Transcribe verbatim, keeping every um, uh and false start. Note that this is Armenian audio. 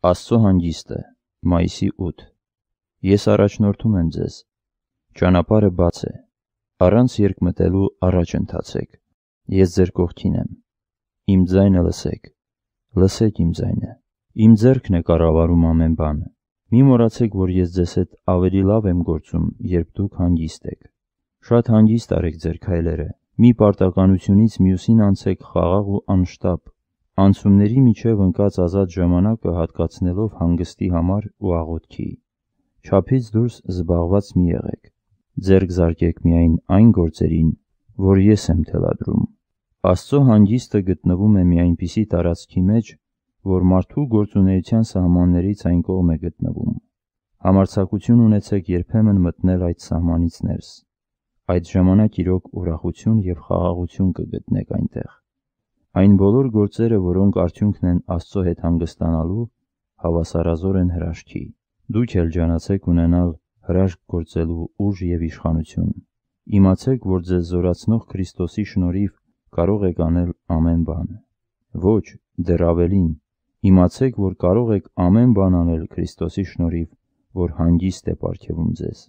Աստծո հանգիստը, մայիսի ութ։ Ես առաջնորդում եմ ձեզ։ Ճանապարհը բաց է, առանց երկմտելու առաջ ընթացեք։ Ես ձեր կողքին եմ։ Իմ ձայնը լսեք, լսեք իմ ձայնը։ Իմ ձեռքն է կառավարում ամեն բան։ Մի մոռացեք, որ ես ձեզ հետ ավելի լավ եմ գործում, երբ դուք հանգիստ եք։ Շատ հանգիստ արեք ձեր քայլերը, մի պարտականությունից մյուսին անցեք խաղաղ ու անշտապ, անցումների միջև ընկած ազատ ժամանակը հատկացնելով հանգստի համար ու աղոթքի։ Չափից դուրս զբաղված մի եղեք, ձեռք զարկեք միայն այն գործերին, որ ես եմ թելադրում։ Աստծո հանգիստը գտնվում է մի այնպիսի տարածքի մեջ, որ մարդու գործունեության սահմաններից այն կողմ է գտնվում։ Համարձակություն ունեցեք երբեմն մտնել այդ սահմանից ներս։ Այդ ժամանակ իրոք ուրախություն և խաղաղություն կգտնեք այնտեղ։ Այն բոլոր գործերը, որոնք արդյունքն են Աստծո հետ հանգստանալու, հավասարազոր են հրաշքի։ Դուք էլ ջանացեք ունենալ հրաշք գործելու ուժ և իշխանություն։ Իմացեք, որ ձեզ զորացնող Քրիստոսի շնորհիվ կարող եք անել ամեն բան։ Ոչ, դեռ ավելին, իմացեք, որ կարող եք ամեն բան անել Քրիստոսի շնորհիվ, որ հանգիստ է պարգևում ձեզ։